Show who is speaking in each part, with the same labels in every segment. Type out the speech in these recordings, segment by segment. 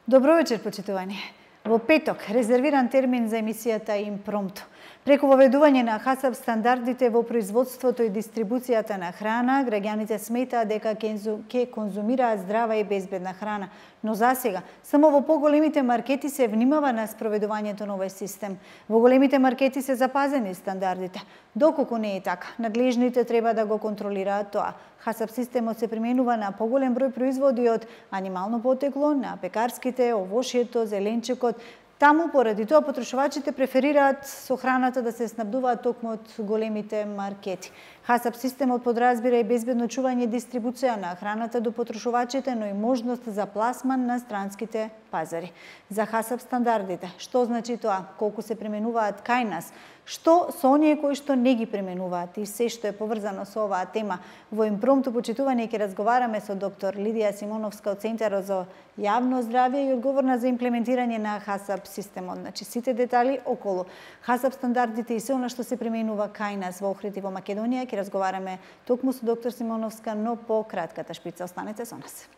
Speaker 1: Добро вечер, почитувани. Во петок, резервиран термин за емисијата Импромту. Преку воведување на ХАСАП стандардите во производството и дистрибуцијата на храна, граѓаните сметаат дека ќе конзумираат здрава и безбедна храна. Но засега, само во поголемите маркети се внимава на спроведувањето на овој систем. Во големите маркети се запазени стандардите. Доколку не е така, надлежните треба да го контролираат тоа. ХАСАП системот се применува на поголем број производи од анимално потекло, на пекарските, овошјето, зеленчекот. Таму, поради тоа, потрошувачите преферираат со храната да се снабдуваат токму од големите маркети. ХАСАП системот подразбира и безбедно чување и дистрибуција на храната до потрошувачите, но и можност за пласман на странските пазари. За ХАСАП стандардите, што значи тоа? Колку се применуваат кај нас? Што со оние кои што не ги применуваат и се што е поврзано со оваа тема? Во Импромту почитување ќе разговараме со доктор Лидија Симоновска од Центарот за јавно здравје и одговорна за имплементирање на ХАСАП системот. Значи сите детали околу ХАСАП стандардите и се она што се применува кај нас во Охрид и во Македонија ќе разговараме токму со доктор Симоновска, но по кратката шпица. Останете со нас.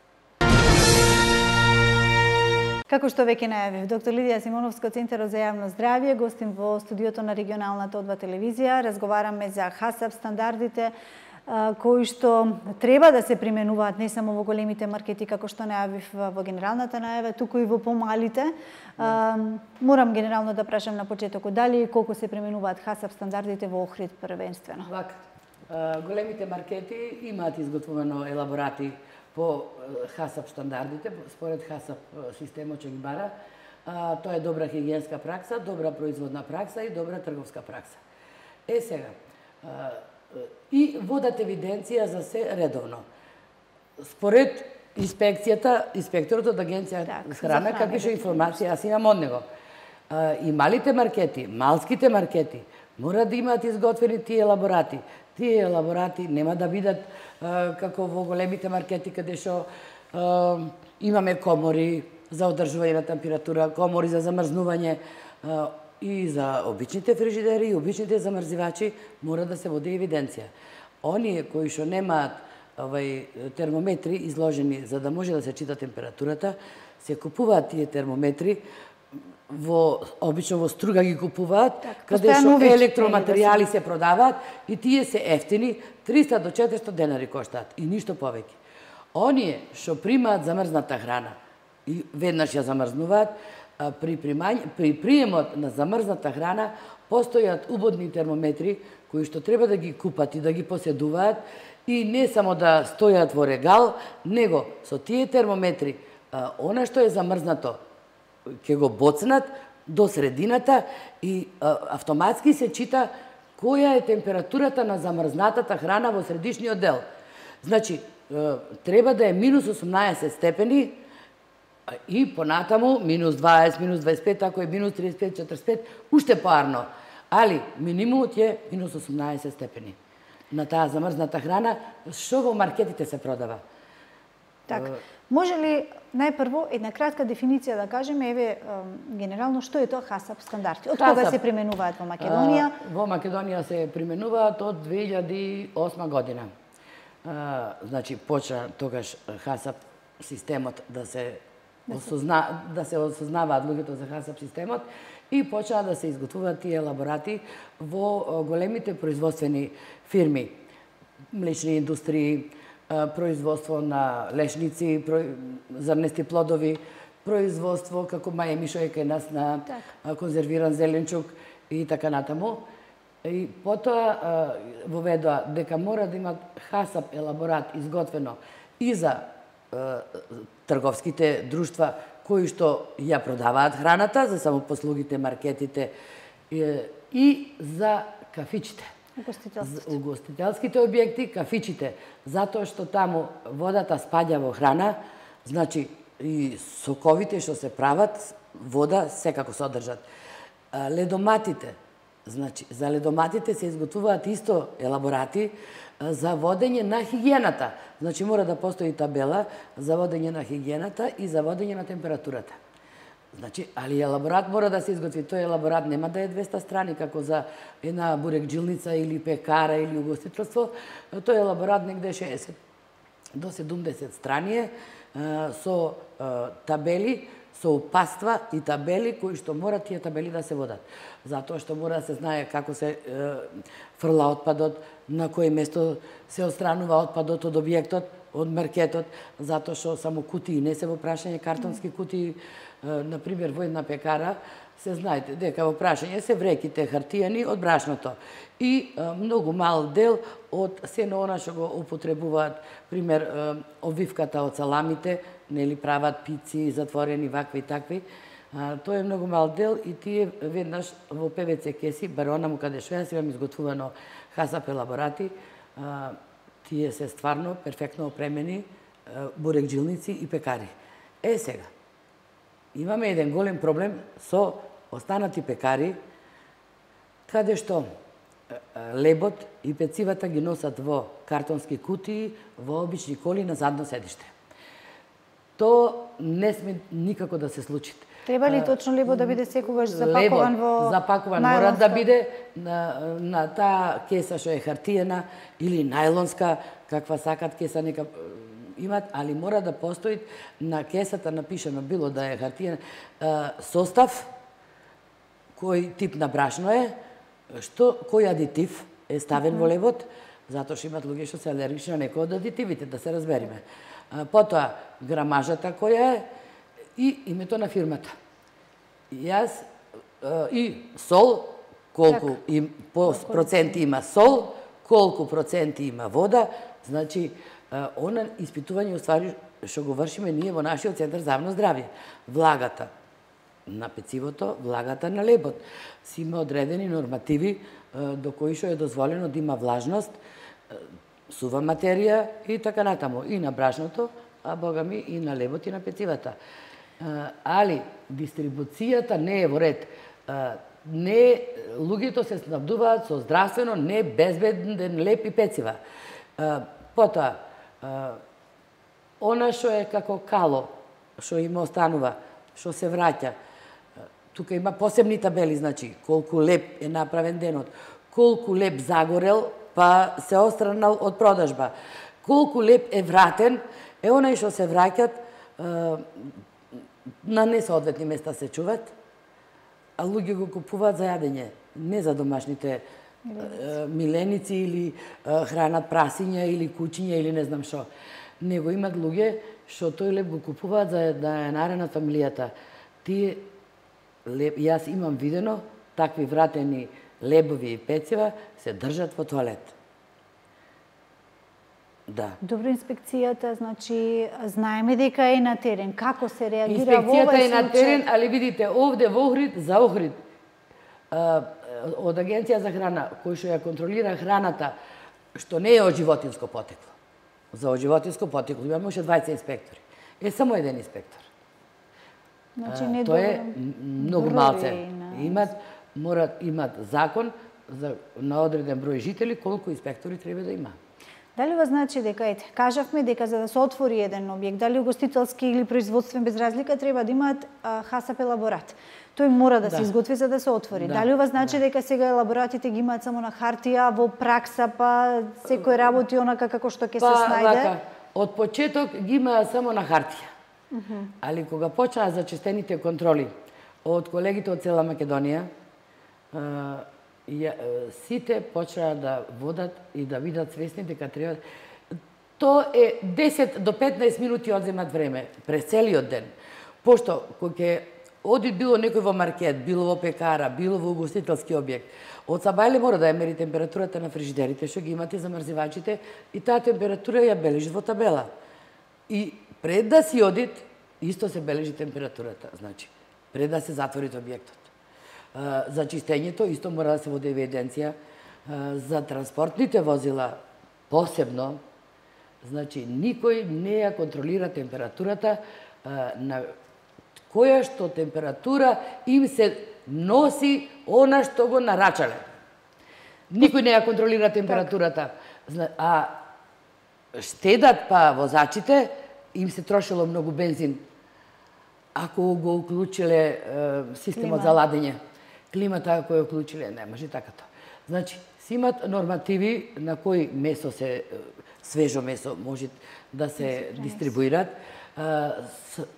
Speaker 1: Како што веќе најавив, доктор Лидија Симоновска од Центарот за јавно здравје, гостин во студиото на регионалната ОДВА телевизија. Разговараме за ХАСАП стандардите кои што треба да се применуваат не само во големите маркети, како што најавив во генералната најава, туку и во помалите. Морам генерално да прашам на почетокот, дали и колку се применуваат ХАСАП стандардите во Охрид првенствено?
Speaker 2: Вака, големите маркети имаат изготвено елаборати по ХАСАП стандардите, според ХАСАП системот ќе ги бара. Тоа е добра хигиенска пракса, добра производна пракса и добра трговска пракса. Сега, и водат евиденција за се редовно. Според инспекторот од Агенција за храна, какви информација јас имам од него. И малите маркети, малските маркети, мора да имаат изготвени тие елаборати. Тие елаборати нема да бидат како во големите маркети каде што имаме комори за одржување на температура, комори за замрзнување и за обичните фрижидери и обичните замрзивачи мора да се води евиденција. Оние кои што немаат термометри изложени за да може да се чита температурата, се купуваат тие термометри обично во Струга ги купуваат, каде што електроматеријали се продаваат и тие се ефтини, 300 до 400 денари коштаат и ништо повеќе. Оние што примаат замрзната храна и веднаш ја замрзнуваат, при приемот на замрзната храна постојат убодни термометри кои што треба да ги купат и да ги поседуваат и не само да стојат во регал, него со тие термометри она што е замрзнато ќе го боцнат до средината и автоматски се чита која е температурата на замрзнатата храна во средишниот дел. Значи, треба да е минус 18 степени и понатаму минус 20, минус 25, ако е минус 35, 45, уште поарно. Али минимумот е минус 18 степени на таа замрзната храна, што во маркетите се продава.
Speaker 1: Така. Може ли најпрво една кратка дефиниција да кажеме, еве генерално што е тоа ХАСАП стандарти? Од кога се применуваат во Македонија?
Speaker 2: Во Македонија се применуваат од 2008 година. Значи почна тогаш ХАСАП системот да се осознаваат луѓето за ХАСАП системот и почнаа да се изготвуваат тие елаборати во големите производствени фирми, млечни индустрии, производство на лешници, зрнести плодови, производство како мај Мишо е кај нас на конзервиран зеленчук и така натаму. И потоа воведоа дека мора да имат ХАСАП елаборат изготвено и за трговските друштва кои што ја продаваат храната, за самопослугите, маркетите и за кафичите. Угостителските објекти, кафичите, затоа што таму водата спаѓа во храна, значи и соковите што се прават, вода секако содржат. Ледоматите, значи за ледоматите се изготвуваат исто елаборати за водење на хигиената. Значи мора да постои табела за водење на хигиената и за водење на температурата. Значи, али елаборат мора да се изготви. Тој елаборат нема да е 200 страни, како за една бурекджилница или пекара или угостителство. Тој елаборат негде 60 до 70 страни со табели, со упатства и табели кои што мора тие табели да се водат. Затоа што мора да се знае како се фрла отпадот, на кој место се отстранува отпадот од објектот, од маркетот, затоа што само кутии не се во прашање, картонски кутии, на пример во една пекара, се знаете дека во прашање се вреките хартијани од брашното и многу мал дел од сено она што го употребуваат, пример обвивката од саламите, нели прават пици, затворени вакви и такви. Тоа е многу мал дел и тие веднаш во ПВЦ кеси, бар онаму каде што јас имам изготвувано хасап елаборати, тие се стварно перфектно опремени бурекджилници и пекари. Сега, имаме еден голем проблем со останати пекари, каде што лебот и пецивата ги носат во картонски кутии, во обични коли на задно седиште. Тоа не сме никако да се случи.
Speaker 1: Треба ли точно лебот да биде секогаш запакуван во
Speaker 2: запакуван мора да биде на таа кеса што е хартиена или најлонска, каква сакат кеса нека имат, али мора да постои на кесата напишано било да е хартиена состав, кој тип на брашно е, кој адитив е ставен во лебот, затоа што имат луѓе што се алергични на некои од адитивите, да се разбериме. Потоа грамажата која е и името на фирмата. Јас и сол, колку проценти има сол, колку проценти има вода, значи она испитување уствари што го вршиме ние во нашиот центар за јавно здравје. Влагата на пецивото, влагата на лебот. Си има одредени нормативи до кои што е дозволено да има влажност, сува материја и така натаму. И на брашното, а богами и на лебот и на пецивата. Али дистрибуцијата не е во ред. Луѓето се снабдуваат со здравствено не безбеден леб и пецива. Потоа, она што е како кало, што им останува, што се враќа, тука има посебни табели, значи, колку леб е направен денот, колку леб загорел, па се отстранал од продажба, колку леб е вратен, е онај што се враќат, на несоодветни места се чуват, а луѓе го купуваат за јадење, не за домашните миленици или хранат прасиња или кучиња или не знам што. Него имат луѓе што тој леб го купуваат за да ја наренат фамилијата. Тие јас имам видено такви вратени лебови и пецива се држат во тоалет. Да.
Speaker 1: Добро, инспекцијата, значи, знаеме дека е на терен. Како се реагира во овој случај?
Speaker 2: Инспекцијата е на терен, али видите, овде во Охрид, за Охрид, од Агенција за храна, кој што ја контролира храната, што не е од животинско потекло. За од животинско потекло имаме уште 20 инспектори. Е само еден инспектор.
Speaker 1: Значи, не
Speaker 2: тоа е многу малце. Имат закон на одреден број жители колку инспектори треба да има.
Speaker 1: Дали ова значи дека, кажавме дека за да се отвори еден објект, дали угостителски или производствен без разлика, треба да имаат хасап елаборат. Тој мора да се изготви за да се отвори. Дали ова значи дека сега елаборатите ги имаат само на хартија, во пракса, па секој работи онака како што ќе се снајде?
Speaker 2: Од почеток ги имаат само на хартија. Али кога почнаа зачестените контроли од колегите од цела Македонија, сите почнаа да водат и да видат свесни дека треба. Тоа е 10 до 15 минути одземат време през целиот ден. Пошто кога ќе оди било некој во маркет, било во пекара, било во угостителски објект, од сабајле мора да ја мери температурата на фрижидерите што ги имате замрзивачите и таа температура ја бележи во табела. И пред да си одит, исто се бележи температурата, значи, пред да се затвори објектот. За чистењето исто мора да се води евиденција. За транспортните возила посебно, значи, никој не ја контролира температурата на која што температура им се носи она што го нарачале. Никој не ја контролира температурата. А штедат па возачите, им се трошило многу бензин ако го уклучиле системот за ладење. Климата ако ја уклучиле, не може така тоа. Значи, си имат нормативи на кои месо се, свежо месо може да се дистрибуират.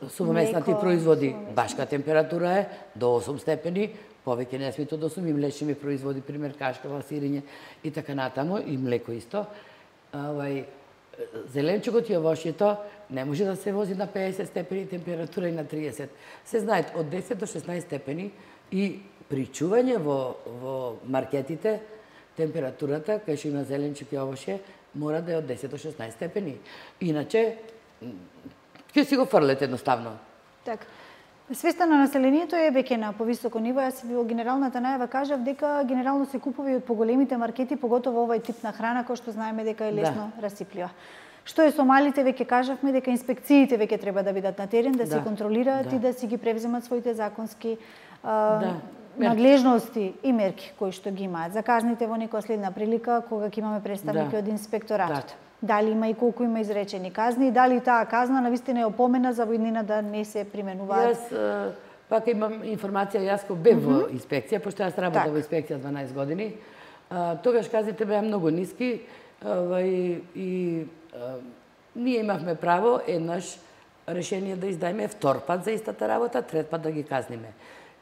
Speaker 2: сувомеснати производи, башка температура е до 8 степени, повеќе не смете од 8, и млечни производи, пример кашкава, сирење и така натаму, и млеко исто. Зеленчукот и овошјето не може да се вози на 50 степени температура и на 30. Се знаат од 10 до 16 степени и при чување во маркетите температурата кај што има зеленчук и овошје мора да е од 10 до 16 степени. Иначе ќе си го фрлете едноставно.
Speaker 1: Така. Свеста на населението е веќе на повисоко ниво. Јас во генералната најава кажав дека генерално се купува и од поголемите маркети, поготово овој тип на храна кој што знаеме дека е лесно расиплива. Што е со малите, веќе кажавме дека инспекциите веќе треба да бидат на терен, да се контролираат и да си ги превземат своите законски надлежности и мерки кои што ги имаат. За казните во некоја следна прилика кога ќе имаме представники од инспекторатот. Дали има и колку има изречени казни и дали таа казна навистина е опомена за во иднина да не се применуваат.
Speaker 2: Јас пак имам информација, јас кој бев во инспекција, пошто јас работам во инспекција 12 години. Тогаш казните беа многу ниски и ние имавме право еднаш решение да издајме втор пат за истата работа, трет пат да ги казниме.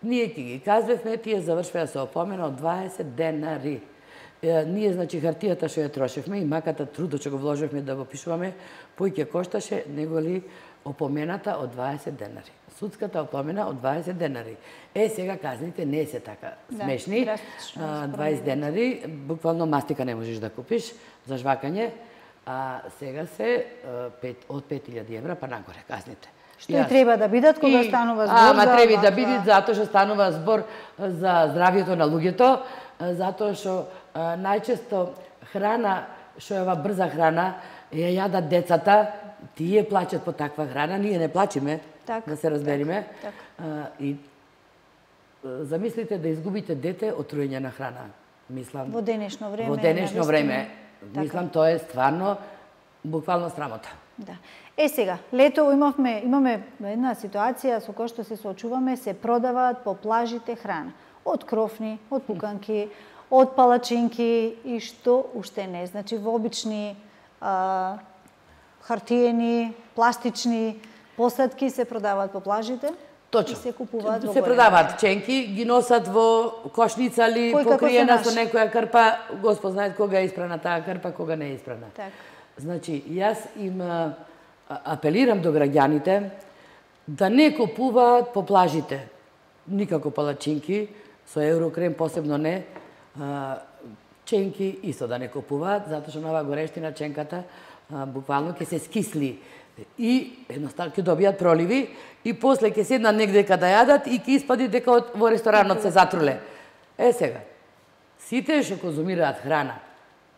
Speaker 2: Ние ќе ги казвевме, тие завршваа со опомена од 20 денари. Ние, значи, хартијата што ја трошевме и маката трудот што го вложевме да го пишуваме, поќе кошташе неголи опомената од 20 денари. Судската опомена од 20 денари. Сега казните не се така смешни. 20 денари, буквално мастика не можеш да купиш за жвакање, а сега се од 5000 евра па нагоре казните.
Speaker 1: Што и треба да бидат кога станува збор за...
Speaker 2: Ама треба да бидат затоа што станува збор за здравјето на луѓето, затоа што најчесто храна, што е ова брза храна, ја јадат децата, тие плачат по таква храна, ние не плачиме, да се разбериме. И замислите да изгубите дете од труење на храна. Мислам,
Speaker 1: во денешно време.
Speaker 2: Во денешно време. Мислам, тоа е стварно, буквално срамота.
Speaker 1: Да. Сега, лето имаме една ситуација со која што се соочуваме, се продаваат по плажите храна. Од крофни, од пуканки, од палачинки и што уште не. Значи, во обични хартиени, пластични посадки се продаваат по плажите.
Speaker 2: Точно.
Speaker 1: И се купуваат во
Speaker 2: се продаваат ченки, ги носат во кошница или покриена со некоја крпа. Господ знае кога е испрана таа крпа, кога не е испрана.
Speaker 1: Так.
Speaker 2: Значи, јас им апелирам до граѓаните да не купуваат по плажите никако палачинки, со еврокрем посебно не, ченки исто да не купуваат, затоа што на оваа горештина ченката буквално ќе се скисли и едноставно ќе добијат проливи и после ќе седнат негде каде јадат и ќе испади дека во ресторанот се затруле. Сега, сите што конзумираат храна,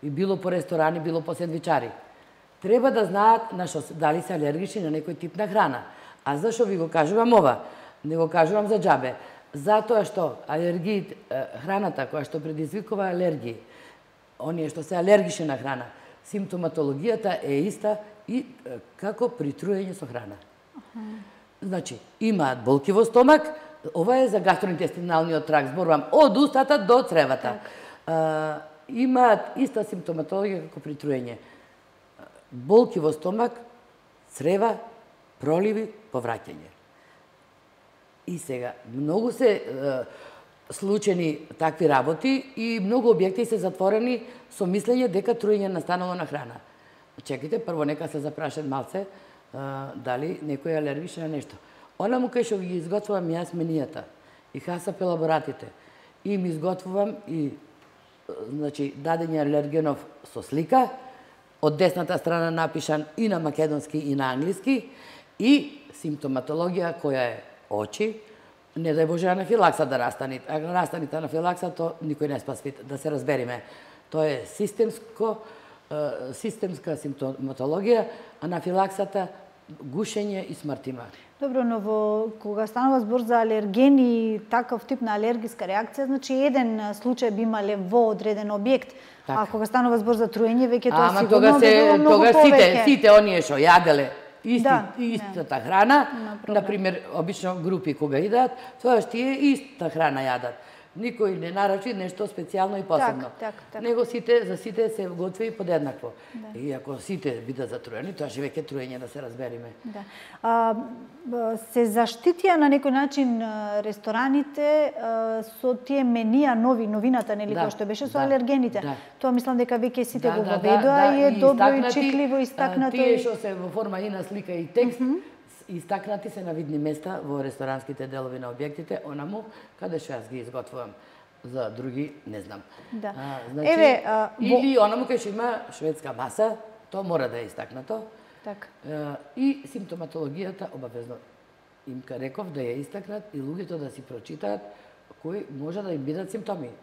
Speaker 2: и било по ресторани, било по сендвичари, треба да знаат на што дали се алергични на некој тип на храна. А зашо ви го кажувам ова? Не го кажувам за џабе. Затоа што храната која што предизвикува алергии, оние што се алергични на храна, симптоматологијата е иста и како при труење со храна. Значи, имаат болки во стомак, ова е за гастроинтестиналниот тракт, зборувам од устата до цревата. Имаат иста симптоматологија како при труење. Болки во стомак, црева, проливи, повраќање. И сега, многу се случени такви работи и многу објекти се затворени со мислење дека труење настанало на храна. Чекайте, прво нека се запрашат малце дали некој е алергичен на нешто. Она му кај што ги изготвувам јас менијата и хасап елаборатите, и им изготвувам и значи дадење алергенов со слика, од десната страна напишан и на македонски и на англиски, и симптоматологија која е очи, не дај Боже анафилакса да растани. Ако растаните анафилакса, то никој не спасви, да се разбериме. Тоа е системска симптоматологија, анафилаксата, гушење и смрт има.
Speaker 1: Добро, но кога станува збор за алергени и таков тип на алергиска реакција, значи еден случај би имале во одреден објект, а кога станува збор за труење, веќе тоа сигурно би било многу повеќе.
Speaker 2: Сите оние што јаделе истата храна, например, обично групи кога идат, тоа што е иста храна јадат. Никој не нарачи нешто специјално и посебно. Него за сите се готви подеднакво. И ако сите бидат затруени, тоа ще веќе труење да се разбериме.
Speaker 1: Се заштитија на некој начин рестораните со тие менија новината, нели, кој што беше со алергените. Тоа мислам дека веќе сите го воведоа и е добро и читливо истакнато.
Speaker 2: Тие што се во форма и на слика и текст, истакнати се на видни места во ресторанските делови на објектите, онаму каде што јас ги изготвувам. За други не знам. Или онаму кај што има шведска маса, тоа мора да е истакнато. И симптоматологијата обавезно им реков да ја истакнат и луѓето да си прочитаат кои може да им бидат симптоми.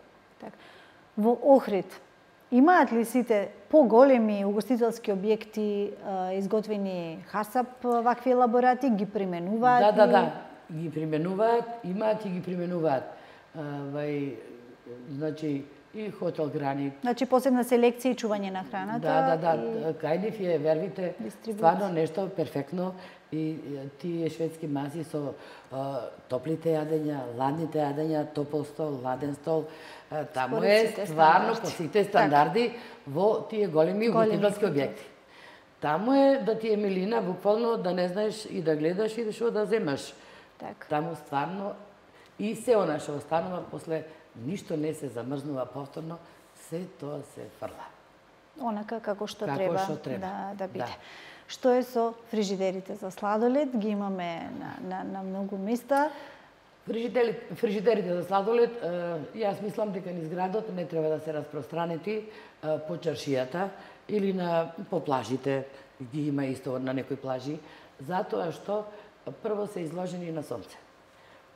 Speaker 1: Во Охрид имаат ли сите поголеми угостителски објекти изготвени хасап вакви елаборати, ги применуваат?
Speaker 2: Да, ги применуваат, имаат и ги применуваат. Значи, и хотел Грани.
Speaker 1: Значи, посебна селекција и чување на храната.
Speaker 2: Кај нив е, вервите, стварно нешто перфектно. И тие шведски маси со топлите јадења, ладните јадења, топол стол, ладен стол, таму е стварно по сите стандарди во тие големи угостителски објекти. Таму е да ти е милина, буквално да не знаеш и да гледаш и што да земаш. Таму стварно и се она што останува после ништо не се замрзнува повторно, се тоа се фрла.
Speaker 1: Онака како што треба да биде. Што е со фрижидерите за сладолед? Ги имаме на многу места.
Speaker 2: Фрижидерите за сладолед, јас мислам дека низ градот не треба да се распространети по чаршијата или по плажите, ги има исто на некои плажи, затоа што прво се изложени на сонце.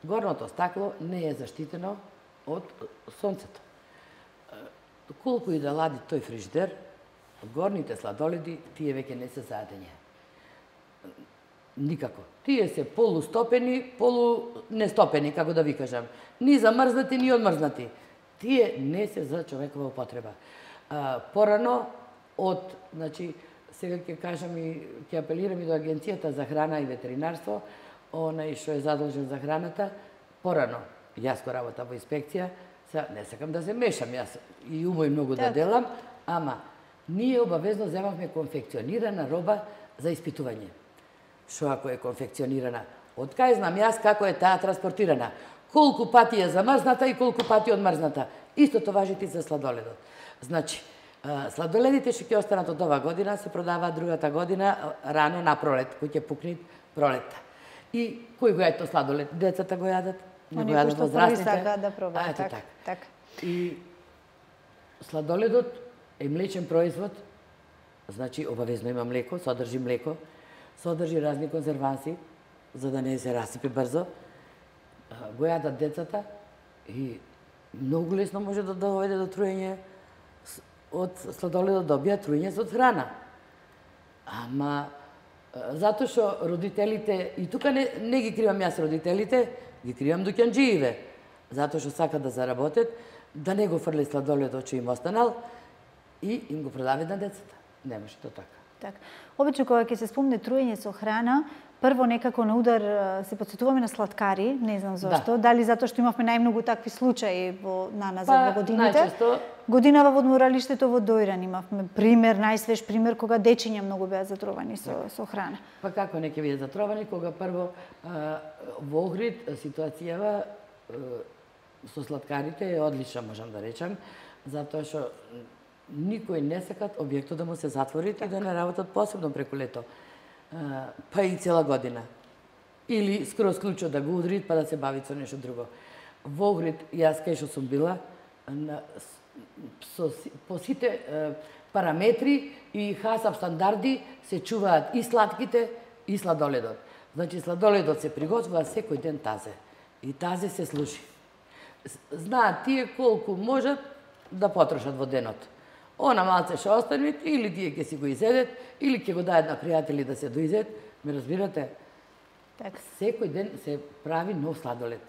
Speaker 2: Горното стакло не е заштитено од сонцето. Колку и да лади тој фрижидер, горните сладоледи, тие веќе не се за јадење. Никако. Тие се полустопени, полунестопени, како да ви кажам. Ни замрзнати, ни одмрзнати. Тие не се за човекова употреба. Порано значи, сега ќе кажам и ќе апелирам и до Агенцијата за храна и ветеринарство, онај што е задолжен за храната, порано, јас кој работам во инспекција, не сакам да се мешам, јас и умој многу да делам, ама ние обавезно земавме конфекционирана роба за испитување. Што ако е конфекционирана? Од кај знам јас како е таа транспортирана? Колку пати е замрзната и колку пати одмрзната? Истото важи и за сладоледот. Значи, сладоледите што ќе останат од ова година се продаваат другата година рано на пролет, кој ќе пукне пролетта. И кој го јаде сладолед? Децата го јадат, не го јадат возрастните.
Speaker 1: Они кои што први сака да пробаат.
Speaker 2: Така. И сладоледот е млечен производ, значи обавезно има млеко, содржи млеко, содржи разни конзерванси, за да не се расипе брзо. Го јадат децата и многу лесно може да доведе до труење од сладоледот, да добија труење од храна. Ама затоа што родителите, и тука не ги кривам јас родителите, ги кривам дуќанџиите, затоа што сакат да заработат, да не го фрле сладоледот што им останал и им го продават на децата. Не може тоа така.
Speaker 1: Обично кога ќе се спомне труење со храна, прво некако на удар се потсетуваме на сладкари, не знам зошто, дали затоа што имавме најмногу такви случаи назад во годините. Годинава во одморалиштето во Дојран имавме пример, најсвеж пример кога дечиња многу беа затровани со храна.
Speaker 2: Па како не ќе бидат затровани кога прво во Охрид ситуацијава со сладкарите е одлична, можам да речам, затоа што никој не сакат објектот да му се затвори и да не работат посебно преку лето. Па и цела година. Или скроз клучот да го удри, па да се бави со нешто друго. Во Охрид, јас кај што сум била, по сите параметри и хасап стандарди се чуваат и сладките и сладоледот. Значи, сладоледот се приготвува секој ден тазе. И тазе се слуши. Знаат тие колку можат да потрошат во денот. Она малце што остане, или тие ќе си го изедет, или ќе го дајат на пријатели да се доизедет. Ме разбирате? Секој ден се прави нов сладолед.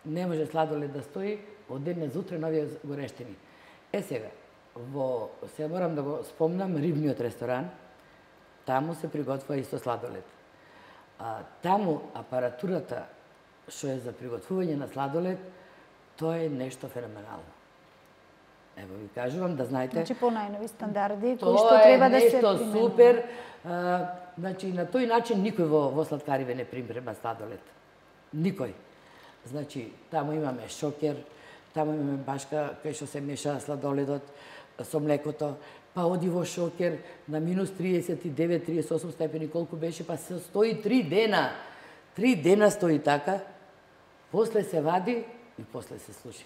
Speaker 2: Не може сладолед да стои од денес за утре нови горештини. Сега, се морам да го спомнам рибниот ресторан, таму се приготвува исто сладолед. Таму апаратурата што е за приготвување на сладолед, Тоа е нешто феноменално. Ево ви кажувам да знаете.
Speaker 1: Значи по најнови стандарди кои што треба да се
Speaker 2: применуваат. Тоа е нешто супер. Значи на тој начин никој во сладкариве не примпрема сладолед. Никој. Значи таму имаме шокер, таму имаме башка кај што се меша сладоледот со млекото, па оди во шокер на минус 39-38 степени, колку беше, па се стои 3 дена. 3 дена стои така, после се вади и после се слуши.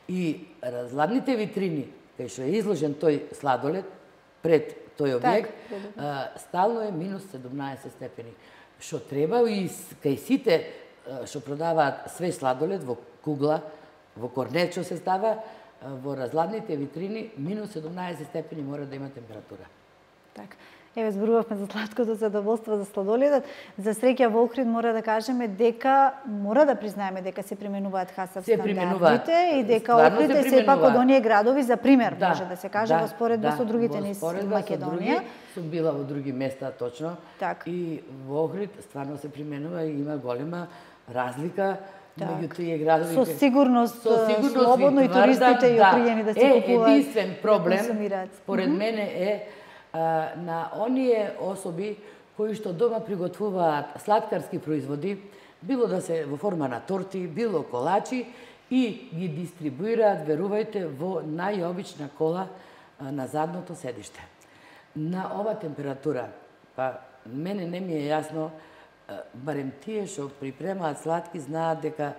Speaker 2: И разладните витрини, кај што е изложен тој сладолед, пред тој објект, стално е минус 17 степени. Што треба и кај сите што продаваат свеж сладолед во кугла, во корнет што се става, во разладните витрини минус 17 степени мора да има температура.
Speaker 1: Така. Еве зборувавме за сладкото задоволство за сладоледот. За среќа во Охрид мора да кажеме дека мора да признаеме дека се применуваат ХАСАП стандардите и дека Охрид е сепак од оние градови за пример, може да се каже, во споредба со другите низ Македонија.
Speaker 2: Сум била во други места точно.
Speaker 1: Так.
Speaker 2: И во Охрид стварно се применува и има голема разлика меѓу тие градови.
Speaker 1: Со сигурност слободно и туристите и опријени да се купуваат.
Speaker 2: Единствен проблем според мене е на оние особи кои што дома приготвуваат сладкарски производи, било да се во форма на торти, било колачи, и ги дистрибуираат, верувајте, во најобична кола на задното седиште. На ова температура, па мене не ми е јасно, барем тие што припремаат сладки знаат дека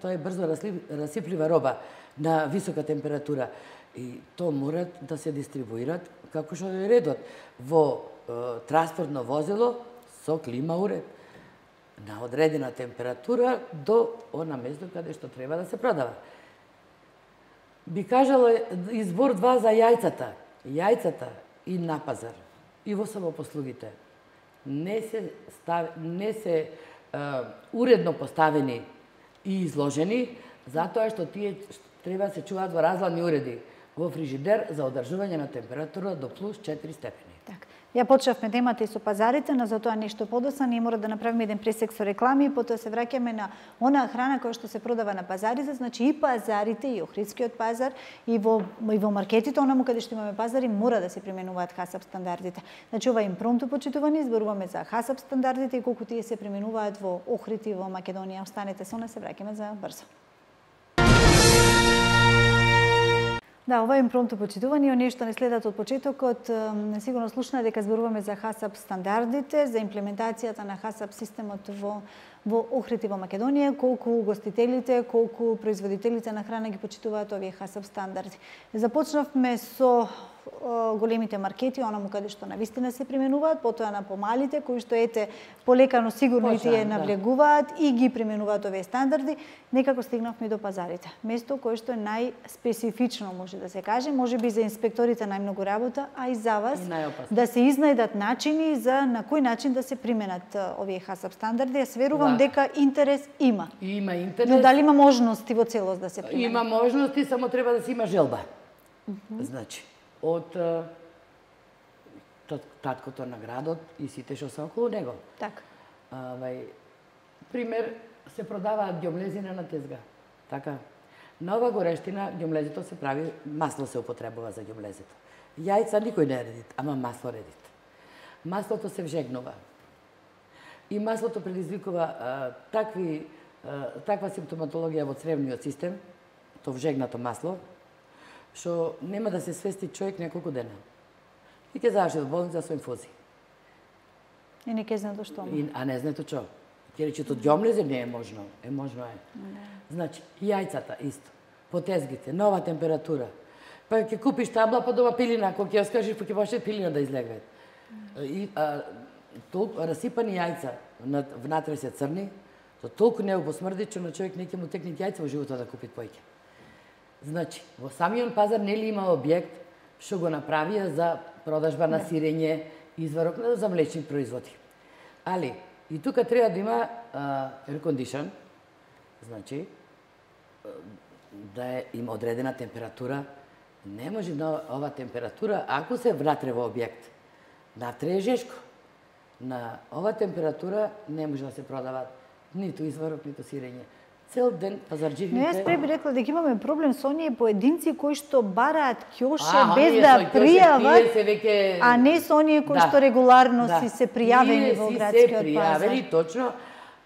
Speaker 2: тоа е брзо расиплива роба на висока температура. И тоа морат да се дистрибуират како што е редот во транспортно возило со клима уред на одредена температура до она место каде што треба да се продава. Би кажала избор 2 за јајцата. Јајцата и на пазар и во самопослугите не се уредно поставени и изложени затоа што тие треба да се чуваат во разладни уреди во фрижидер за одржување на температура до плюс 4 степени.
Speaker 1: Така. Ја почнавме темата и со пазарите, но за тоа нешто подоцна ние мора да направиме еден пресек со реклами и потоа се враќаме на онаа храна која што се продава на пазарите, значи и пазарите, и Охридскиот пазар, и во маркетите, онаму каде што имаме пазари, мора да се применуваат ХАСАП стандардите. Значи ова импромту почитувани, зборуваме за ХАСАП стандардите и колку тие се применуваат во Охрид и во Македонија. Останете со нас, се враќаме за брзо. Да, ова е импромту почитување, оние што не следат од почетокот, сигурно слушна дека зборуваме за ХАСАП стандардите, за имплементацијата на ХАСАП системот во Охрид и во Македонија, колку угостителите, колку производителите на храна ги почитуваат овие ХАСАП стандарди. Започнавме со големите маркети, онаму каде што навистина се применуваат, потоа на помалите, кои што полекано сигурно и тие навлегуваат и ги применуваат овие стандарди, некако стигнавме до пазарите. Место кое што е најспецифично, може да се каже, може би за инспекторите најмногу работа, а и за вас да се изнајдат начини за на кој начин да се применат овие ХАСАП стандарди. Јас верувам дека интерес има.
Speaker 2: Има интерес.
Speaker 1: Но дали има можности во целост да се применат?
Speaker 2: Има можности, само треба да се има желба. Значи, од таткото на градот и сите што се околу него.
Speaker 1: Така.
Speaker 2: Пример, се продаваат ѓомлезина на тезга. Така. На ова горештина ѓомлезето се прави, масло се употребува за ѓомлезето. Јајца никој не редит, ама масло редит. Маслото се вжегнува. И маслото предизвикува таква симптоматологија во цревниот систем, то вжегнато масло, што нема да се свести човек неколку дена. И ќе заврши во болница со инфузии.
Speaker 1: И не ќе знае што.
Speaker 2: А не знае што. Ќе рече тоа ѓомлезе не е можно. Можно е. Значи, јајцата исто. По тезгите, нова температура. Па ќе купиш табла, па дома пилина, кога ќе ја скажеш, па ќе почне пилина да излегва. И толку расипани јајца, внатре се црни, то толку не посмрди, че на човек не ќе му текне јајца во животот да купи поеќе. Значи, во самиот пазар нели има објект што го направија за продажба на сирење, изварок за млечни производи. Али, и тука треба да има air condition, значи, да има одредена температура. Не може на ова температура, ако се внатре во објект. Внатре е жешко. На ова температура не може да се продават ниту изварок, ниту сирење. цел ден пазарџивите.
Speaker 1: Но јас би рекла дека имаме проблем со оние поединци кои што бараат ќоше без да пријават, а не со оние кои што регуларно си се пријавени во градскиот пазар.
Speaker 2: Точно.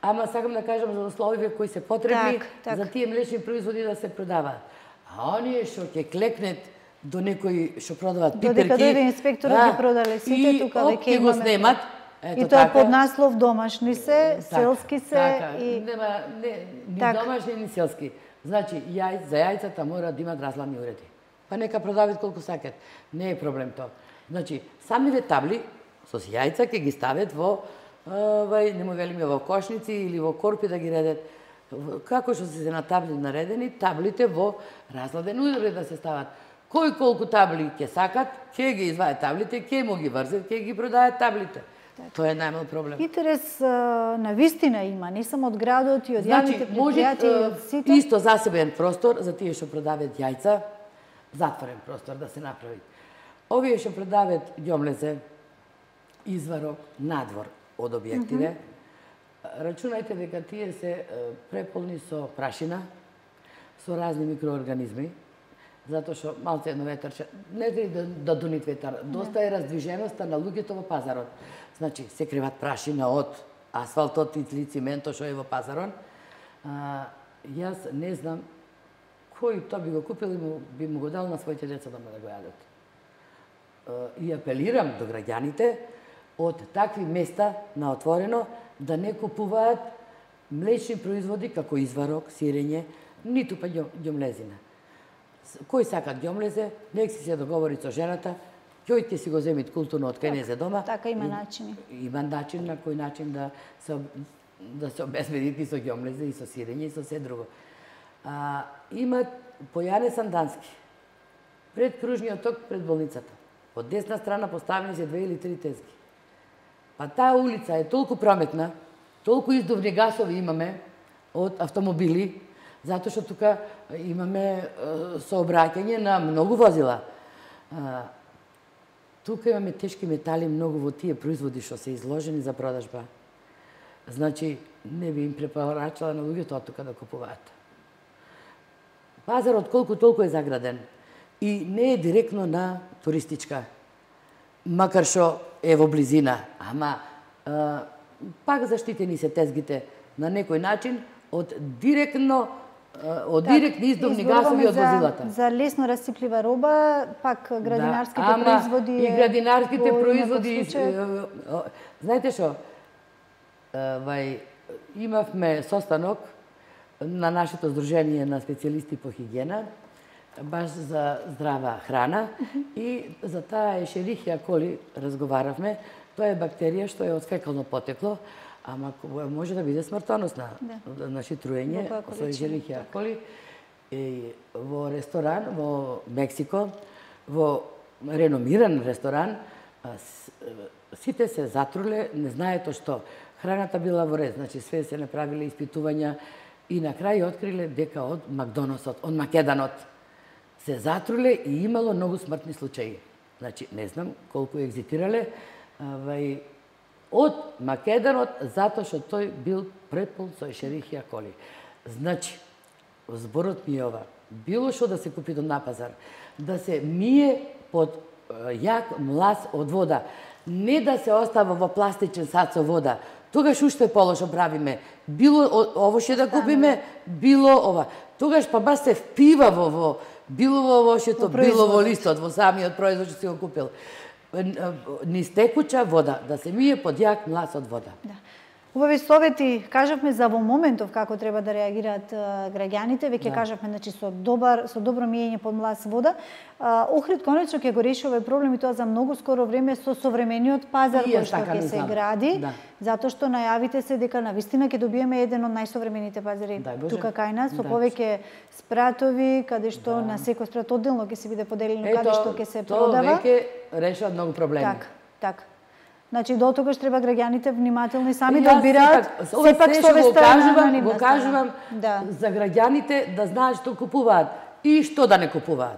Speaker 2: Ама сакам да кажам за условиве кои се потребни за тие млечни производи да се продаваат. А оние што ќе клекнет до некои што продаваат пиперки,
Speaker 1: додека дојде инспекторот ги продале сите, тука веќе
Speaker 2: имаме. Го снимат.
Speaker 1: И тоа под наслов домашни се, селски се
Speaker 2: и нема ни домашни ни селски. Значи за јајцата мора да имат разладни уреди. Па нека продават колку сакат. Не е проблем тоа. Значи самиве табли со јајца ќе ги стават во не му велиме во кошници или во корпи да ги редат. Како што се на табли наредени, таблите во разладен уред да се стават. Кој колку табли ќе сакат, ќе ги изваат таблите, ќе му ги врзат, ќе ги продаат таблите. Тоа е најмал проблем.
Speaker 1: Интерес на вистина има, не само од градот и од јавните предпријатија и од сите.
Speaker 2: Исто засебен простор за тие што продават јајца, затворен простор да се направи. Овие што продават ѓомлезе, изварок, надвор од објективе, рачунајте дека тие се преполни со прашина, со разни микроорганизми, затоа што малце едно ветарче, не треба да донит ветар, доста е раздвиженоста на луѓето во пазарот. Значи, се криват прашина од асфалтот и циментот што е во пазарот. Јас не знам кој тоа би го купил и би му го дал на своите деца да го јадат. И апелирам до граѓаните од такви места на отворено да не купуваат млечни производи како изварок, сирење, ниту па ѓомлезина. Кој сака ѓомлезе, нек си се договори со жената, Кој ќе си го земит културно од кај дома.
Speaker 1: Така има начини.
Speaker 2: Има начин на кој начин да се обезбедити со ѓомлезе и со сирење и со се друго. Има Појане Сандански. Пред кружниот ток, пред болницата. Од десна страна поставени се 2 или 3 тезги. Па таа улица е толку прометна, толку издувни гасови имаме од автомобили, затоа што тука имаме сообраќање на многу возила. Тука имаме тешки метали многу во тие производи што се изложени за продажба. Значи, не би им препорачала на луѓето од тука да купуваат. Пазарот колку толку е заграден и не е директно на туристичка, макар што е во близина, ама пак заштитени се тезгите на некој начин од директни издувни гасови од возилата.
Speaker 1: За лесно расиплива роба, пак градинарските производи
Speaker 2: и градинарските производи. Знаете што? Имавме состанок на нашето здружение на специјалисти по хигиена, баш за здрава храна и за таа Ешерихија коли разговаравме. Тоа е бактерија што е од фекално потекло, ама може да биде смртоносна. Значи труење со Ешерихија коли во ресторан во Мексико, во реномиран ресторан, сите се затруле, не знаето што. Храната била во ред, значи све се направиле испитувања и на крај откриле дека од Макдоносот, од Македанот се затруле и имало многу смртни случаи. Значи, не знам колку екзитирале од Македанот, затоа што тој бил препол со Ешерихија коли. Значи, зборот ми е ова, било што да се купи на пазар, да се мие под јак млас од вода, не да се остава во пластичен сад со вода. Тогаш уште полошо правиме. Било ово што да купиме, било ова. Тогаш па баш се впива во било во овошето, било во листот, во самиот производ што си го купил. Низ текуча вода, да се мие под јак млас од вода.
Speaker 1: Убави совети кажавме за во моментов како треба да реагираат граѓаните, веќе кажавме значи со добро миење под млас вода. Охрид конечно ќе го реши овој проблем и тоа за многу скоро време со современиот пазар кој што ќе се гради, затоа што најавите се дека навистина ќе добиеме еден од најсовремените пазари тука кај нас со повеќе спратови, каде што на секој спрат одделно ќе се биде поделено каде што ќе се продава.
Speaker 2: Тоа веќе решава многу проблеми.
Speaker 1: Така. Значи, до тогаш треба граѓаните внимателни сами да одбираат сепак совестта
Speaker 2: го кажувам за граѓаните да знаат што купуваат и што да не купуваат.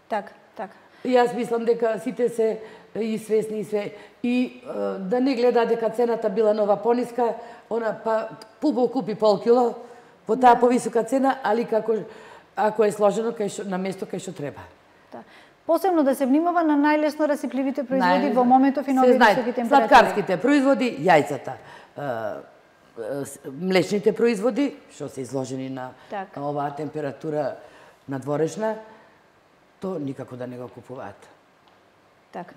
Speaker 1: Така.
Speaker 2: И јас мислам дека сите се и свесни и све и да не гледаат дека цената била нова пониска, она па пубо купи пол кило, по таа повисока цена, али ако е сложено на место кај што треба.
Speaker 1: Да. Посебно да се внимава на најлесно расипливите производи во моментов и на овие високи температури.
Speaker 2: Сладкарските производи, јајцата, млечните производи, што се изложени на оваа температура надворешна, то никако да не го купуваат.
Speaker 1: Така.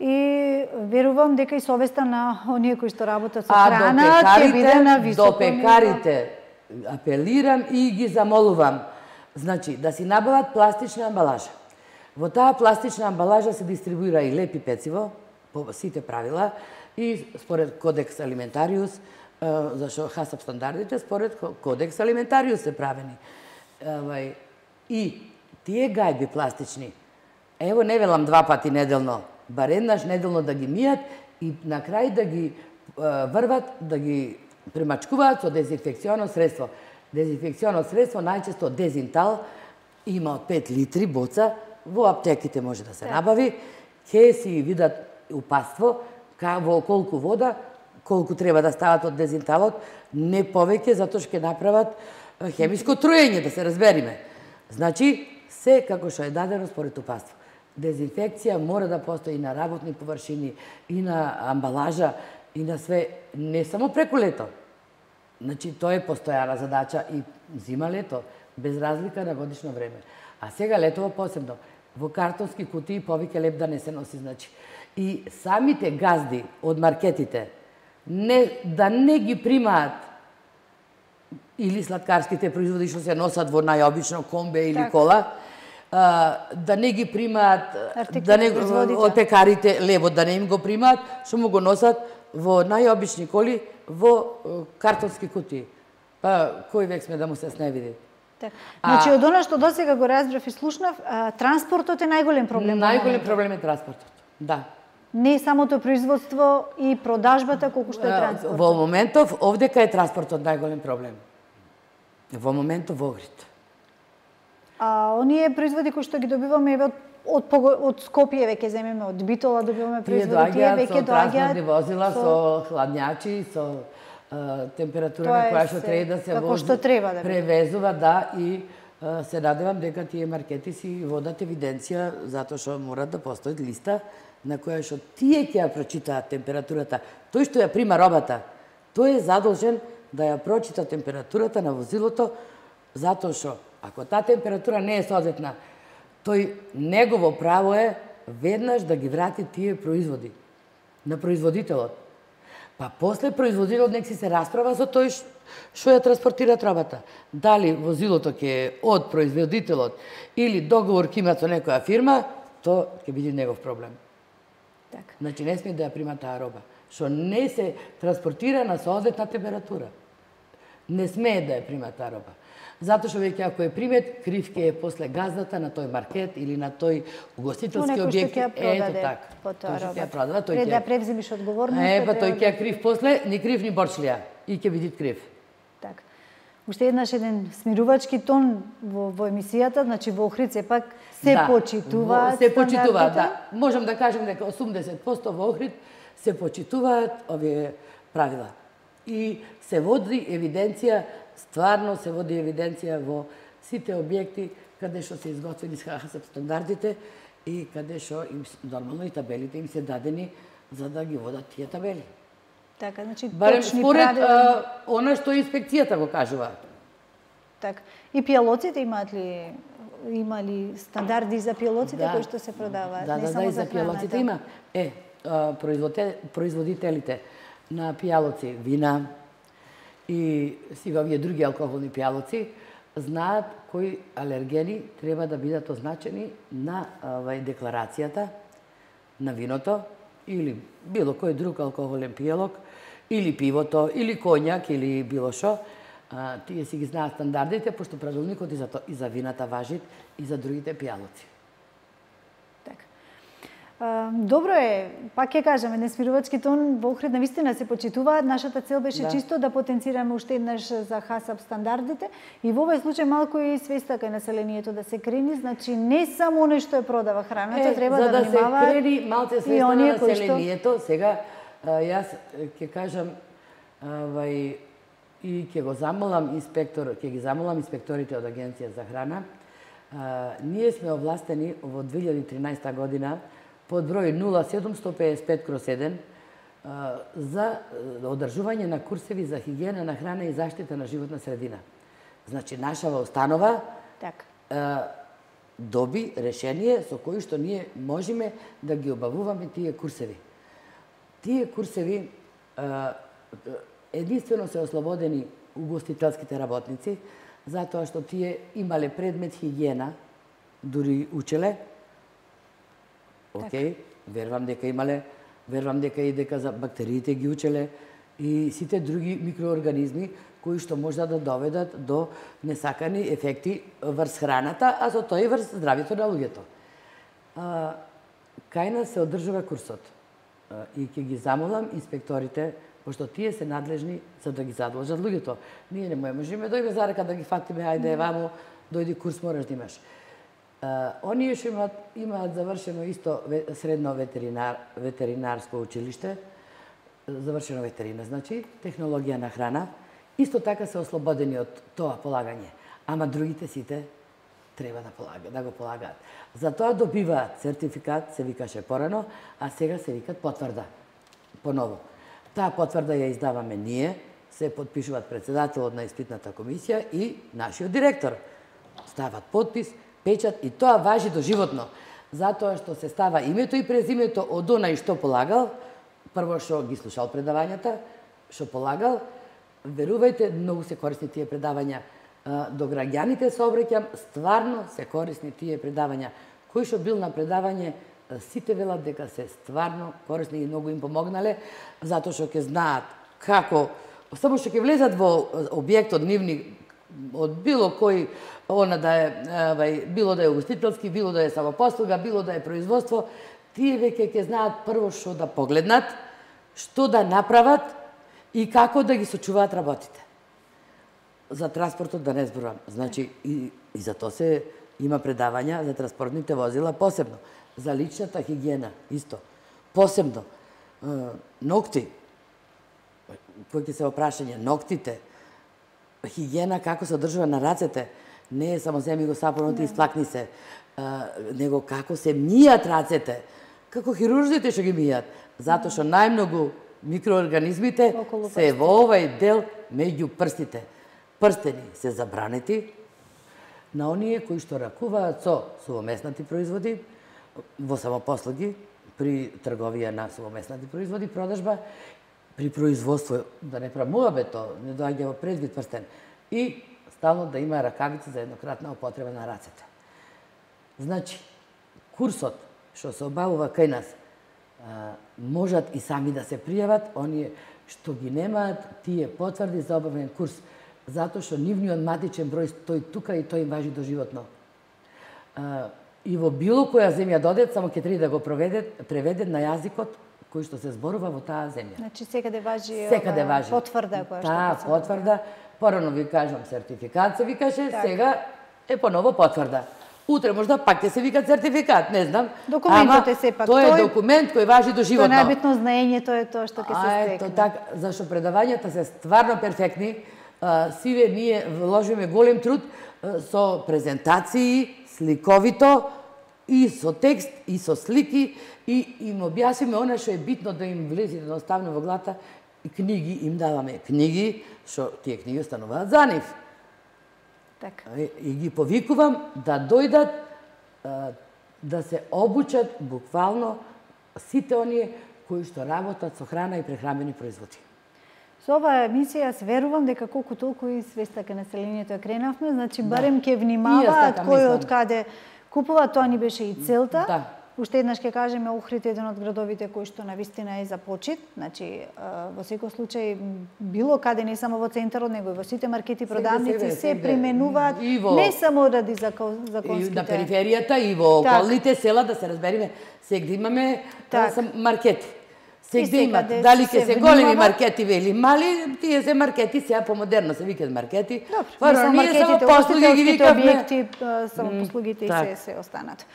Speaker 1: И верувам дека и совеста на оние кои што работат со храна ќе биде на високо ниво. До
Speaker 2: пекарите апелирам и ги замолувам, значи да си набават пластична амбалажа. Во таа пластична амбалажа се дистрибуира и лепи пециво по сите правила и според Кодекс Алиментариус, зашто ХАСАП стандардите според Кодекс Алиментариус се правени. И тие гајби пластични, ево не велам 2 пати неделно, бар еднаш неделно да ги мијат и на крај да ги врват, да ги премачкуваат со дезинфекционо средство. Дезинфекционо средство најчесто Дезинтал има од 5 литри боца, во аптеките може да се набави, ќе си видат упатство во колку вода, колку треба да стават од Дезинталот, не повеќе, затоа што ќе направат хемиско труење, да се разбериме. Значи, се како што е дадено според упатство. Дезинфекција мора да постои и на работни површини, и на амбалажа, и на све, не само преку лето. Значи, тоа е постојана задача и зима-лето, без разлика на годишно време. А сега летово посебно, во картонски кутии повеќе леп да не се носи, значи. И самите газди од маркетите да не ги примаат или сладкарските производи што се носат во најобично комбе или кола, да не ги примаат, од пекарите лебот да не им го примаат, што му го носат во најобични коли, во картонски кутии. Па, кој век сме да му се сневиди?
Speaker 1: Значи, од она што досега го разбрав и слушнав, транспортот е најголем проблем.
Speaker 2: Најголем проблем е транспортот, да.
Speaker 1: Не самото производство и продажбата, колку што е транспортот.
Speaker 2: Во моментов, овдека е транспортот најголем проблем. Во моментов во Охрид.
Speaker 1: А оние производи кои што ги добиваме од Скопје, веќе земеме, од Битола добиваме производи, тие веќе доаѓаат. Тие
Speaker 2: доаѓаат со транспортни возила, со хладњачи, со температура на која што треба да се вози, превезува, да, и се надевам дека тие маркети си водат евиденција, затоа што мора да постои листа на која што тие ќе ја прочитаат температурата. Тој што ја прима робата, тој е задолжен да ја прочита температурата на возилото, затоа што ако таа температура не е соодветна, тој негово право е веднаш да ги врати тие производи на производителот. Па после производителот нек си се расправа со тој што ја транспортира робата. Дали возилото ќе е од производителот или договор ќе има со некоја фирма, то ќе биде негов проблем.
Speaker 1: Така.
Speaker 2: Значи не сме да ја прима таа роба, што не се транспортира на соодветна температура. Не смее да ја прима таа роба. Затоа што веќе ако е примет, крив ќе е после газдата на тој маркет или на тој угостителски објект.
Speaker 1: Ето така.
Speaker 2: Тој што ќе ја продаде, тој
Speaker 1: ќе да превземиш одговорност.
Speaker 2: Па тој ќе е крив после, ни крив ни борчлија и ќе биде крив.
Speaker 1: Така. Уште еднаш еден смирувачки тон во емисијата, значи во Охрид сепак се почитуваат
Speaker 2: стандардите. Се почитуваат, да. Можам да кажем дека 80% во Охрид се почитуваат овие правила. И се води евиденција, стварно се води евиденција во сите објекти каде што се изготвени с ХАСАП стандардите и каде што им нормално и табелите им се дадени за да ги водат тие табели.
Speaker 1: Така, значи
Speaker 2: барем
Speaker 1: точни
Speaker 2: според
Speaker 1: правила.
Speaker 2: Она што инспекцијата го кажува.
Speaker 1: Така. И пијалоците има ли стандарди за пијалоците кои што се продаваат?
Speaker 2: Да,
Speaker 1: не само
Speaker 2: и за пијалоците има. Производителите на пијалоци, вина и сива овие други алкохолни пијалоци знаат кои алергени треба да бидат означени на декларацијата на виното или било кој друг алкохолен пијалок, или пивото, или коњак, или било шо. Тие си ги знаат стандардите, пошто правилникот и за вината важи и за другите пијалоци.
Speaker 1: Добро е, пак ќе кажам, еден смирувачки тон во Охрид навистина се почитуваат. Нашата цел беше чисто да потенцираме уште еднаш за ХАСАП стандардите и во овој случај малку и свеста кај населението да се крени, значи не само оној што е продава храната, треба да внимава.
Speaker 2: За да се крени малце свеста на населението, сега јас ќе кажам и ќе ги замолам инспекторите од Агенција за храна. Ние сме овластени во 2013 година под број 0755/1 за одржување на курсеви за хигиена на храна и заштита на животна средина. Значи, нашава установа доби решение со кои што ние можеме да ги обавуваме тие курсеви. Тие курсеви единствено се ослободени угостителските работници, затоа што тие имале предмет хигиена, дури учеле. Океј, верувам дека и дека за бактериите ги учеле и сите други микроорганизми кои што можат да доведат до несакани ефекти врз храната, а со тоа и врз здравјето на луѓето. Кај нас се одржува курсот и ќе ги замолам инспекторите, пошто тие се надлежни за да ги задолжат луѓето. Ние не можеме да име за рака да ги фатиме, ајде вамо, дојди курс мораш да имаш. Оние што имаат завршено исто средно ветеринарско училиште, завршено ветерина, значи технологија на храна, исто така се ослободени од тоа полагање, ама другите сите треба да го полагаат. Затоа добиваат сертификат, се викаше порано, а сега се викат потврда. Поново. Таа потврда ја издаваме ние, се подпишуваат председателот на испитната комисија и нашиот директор. Стават подпис, печат и тоа важи доживотно. Затоа што се става името и презимето од онај што полагал, прво што ги слушал предавањата, што полагал, верувајте, многу се корисни тие предавања. До граѓаните се обраќам, стварно се корисни тие предавања. Кој што бил на предавање, сите велат дека се стварно корисни и многу им помогнале, затоа што ќе знаат како, само што ќе влезат во објектот нивни, од било кој, било да е угостителски, било да е самопослуга, било да е производство, тие веќе ќе знаат прво што да погледнат, што да направат и како да ги сочуваат работите. За транспортот да не зборувам. Значи, и за тоа се има предавања за транспортните возила посебно. За личната хигиена, исто. Посебно. Ногти. Кој ќе се опрашање? Ногтите. Хигиена како се одржува на рацете. Не е само земи го сапонот и сплакни се. Него како се мијат рацете. Како хирурзите што ги мијат. Затоа што најмногу микроорганизмите се во овај дел меѓу прстите. Прстени се забранети на оние кои што ракуваат со сувомеснати производи, во самопослуги, при трговија на сувомеснати производи, продажба, при производство, да не прамуваме тоа, не доаѓа во предвид прстен, и стално да има ракавици за еднократна употреба на рацете. Значи, курсот што се обавува кај нас, можат и сами да се пријават, оние што ги немаат тие потврди за обавен курс, затоа што нивниот матичен број стои тука и тој им важи доживотно. И во било која земја додет, само ќе треба да го преведет на јазикот кој што се зборува во таа земја.
Speaker 1: Значи секаде важи
Speaker 2: потврда која што се потврда. Порано ви кажам сертификат се викаше, сега е поново потврда. Утре можда пак ќе се вика сертификат, не знам.
Speaker 1: Документот е сепак
Speaker 2: тој е документ кој важи доживотно.
Speaker 1: Тоа најбитно знаењето е тоа што ќе се стекне.
Speaker 2: Ето така, зашто предавањата се стварно перфектни. Сиве ние вложиме голем труд со презентации, сликовито, и со текст, и со слики, и им објасниме она што е битно да им влезе едноставно во главата, и книги им даваме. Книги, што тие книги остануваат за нив.
Speaker 1: Така.
Speaker 2: И ги повикувам да дојдат, да се обучат буквално сите оние кои што работат со храна и прехранбени производи.
Speaker 1: Со оваа емисија јас верувам дека колку толку и свеста кај населението ја кренавме, значи барем ќе внимаваат кој од каде купува, тоа ни беше и целта.
Speaker 2: Да.
Speaker 1: Уште еднаш ќе кажеме, Охрид е еден од градовите кој што навистина е за почит, значи во секој случај било каде, не само во центарот, него и во сите маркети, продавници се применуваат не само ради законските.
Speaker 2: И на периферијата и во околните села, да се разбериме, сегде имаме маркети. Сегде имат, дали ќе се големи маркети или мали, тие се маркети, сега помодерно се викаат маркети.
Speaker 1: Добро, не само маркетите, устителските објекти, само послугите и се останат.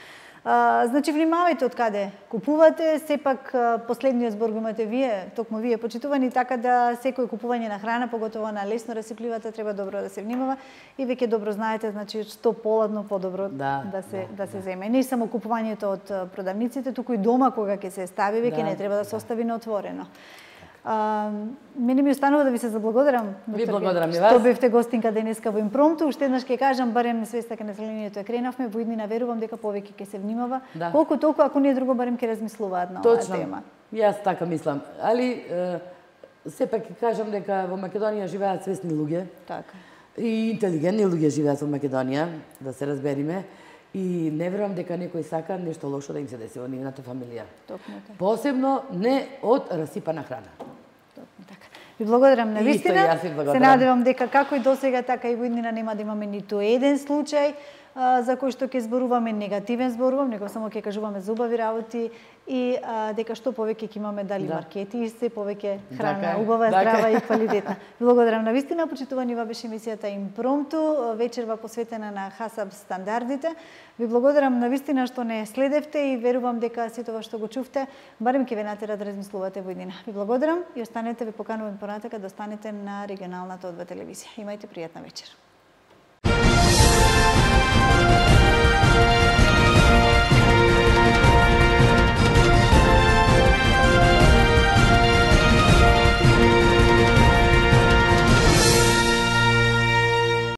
Speaker 1: Значи, внимавајте од каде купувате, сепак последниот збор го имате вие, токму вие почитувани, така да секој купување на храна, поготово на лесно расипливата, треба добро да се внимава и веќе добро знаете, значи, што поладно подобро да се земе. Не само купувањето од продавниците, туку и дома кога ќе се стави, веќе не треба да се остави на отворено. Мене ми останува да ви се заблагодарам.
Speaker 2: Ви благодарам и вас.
Speaker 1: Што бевте гостинка денеска во Импромту. Уште еднаш ќе кажам, барем свеста кај населението кренавме, во иднина верувам дека повеќе ќе се внимава. Колку толку, ако не друго, барем ќе размислуваат на оваа тема.
Speaker 2: Јас така мислам. Али сепак ќе кажам дека во Македонија живеат свесни луѓе.
Speaker 1: Така.
Speaker 2: И интелигентни луѓе живеат во Македонија, да се разбериме. И не верувам дека некој сака нешто лошо да им се деси во нивната фамилија.
Speaker 1: Токму така.
Speaker 2: Посебно не од расипана храна.
Speaker 1: Токму така. Ви благодарам на вистина.
Speaker 2: Се
Speaker 1: надевам дека како и досега, така и во иднина нема да имаме ниту еден случај за кој што ќе зборуваме негативен зборувам, него само ќе кажуваме за убави работи и дека што повеќе ќе имаме дали маркети и се повеќе храна убава, здрава и квалитетна. Благодарам на вистина, почитувани, ова беше емисијата Импромту, вечерва посветена на ХАСАП стандардите. Ви благодарам на вистина што не следевте и верувам дека сето ова што го чувте, барем ќе ве натера да размислувате во иднина. Ви благодарам и останете, ви поканувам понатака да останете на регионалната ОДБ телевизија. Имајте пријатна вечер.